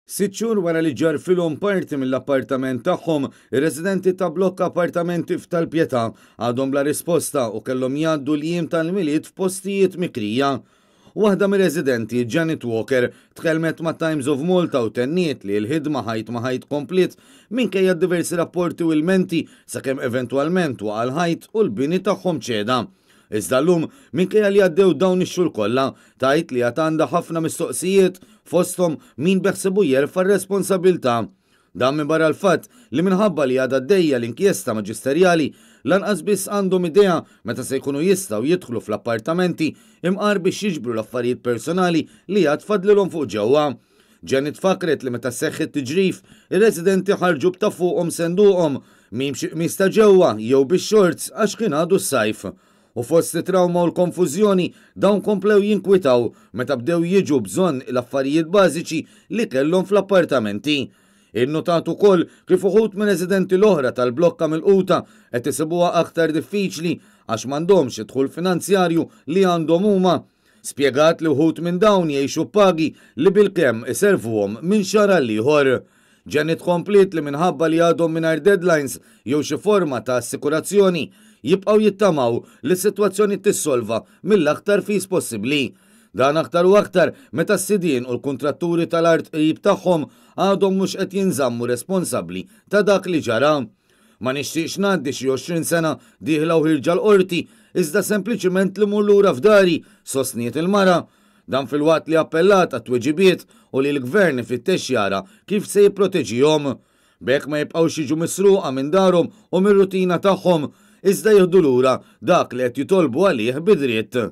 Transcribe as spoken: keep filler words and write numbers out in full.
Sitt xhur wara li ġarfilhom parti mill-appartament tagħhom, ir-residenti ta' blokk appartamenti f'Tal-Pietà għadhom bla risposta u kellhom jgħaddu l-jiem tal-Milied f'postijiet mikrija. Waħda mir-residenti, Janet Walker, tkellmet ma' Times of Malta u tenniet li l-ħidma ħajt ma' ħajt kompliet minkejja diversi rapporti u ilmenti sakemm eventwalment waqa' l-ħajt u l-bini tagħhom ċeda. Iżda llum, minkejja li għaddew dawn ix-xhur kollha, tgħid li għad għandha ħafna mistoqsijiet, fosthom min beħsiebu jerfa' r-responsabbiltà. Dan minbarra l-fatt li minħabba li għadha għaddejja l-inkjesta maġisterjali, lanqas biss għandhom idea meta se jkunu jistgħu jidħlu fl-appartamenti imqar biex jiġbru l-affarijiet personali li għad fadlilhom fuq ġewwa. Janet fakret li meta seħħ it-tiġrif, ir-residenti ħarġu b'ta' fuqhom senduqhom, min b'xi qmis ta' ġewwa jew bix-shorts għax kien għadu s-sajf. U fost it-trawma u l-konfużjoni, dawn komplew jinkwitaw meta bdew jiġu bżonn l-affarijiet bażiċi li kellhom fl-appartamenti. Innotat ukoll kif uħud mir-residenti l-oħra tal-blokka milquta qed isibuha aktar diffiċli għax m'għandhomx id-dħul finanzjarju li għandhom huma. Spjegat li wħud minn dawn jgħixu b'pagi li bilkemm iservuhom minn xahar għal ieħor. Janet kompliet li minħabba li għadhom mingħajr deadlines jew xi forma ta' assikurazzjoni, jibqgħu jittamaw li s-sitwazzjoni tissolva mill-aktar fis possibbli. Dan aktar u aktar meta s-sidien u l-kuntratturi tal-art qrib tagħhom għadhom mhux qed jinżammu responsabbli ta' dak li ġara. Ma nixtieqx ngħaddi xi għoxrin sena dieħla u ħierġa l-qorti, iżda sempliċiment li mmur lura f'dari, sostniet il-mara. Dan filwaqt li appellat għat-tweġibiet u li l-gvern ifittex jara kif se jipproteġihom. B'hekk ma jibqgħux jiġu misruqa minn darhom u mir-rutina tagħhom, iżda jieħdu lura dak li qed jitolbu għalih bi dritt.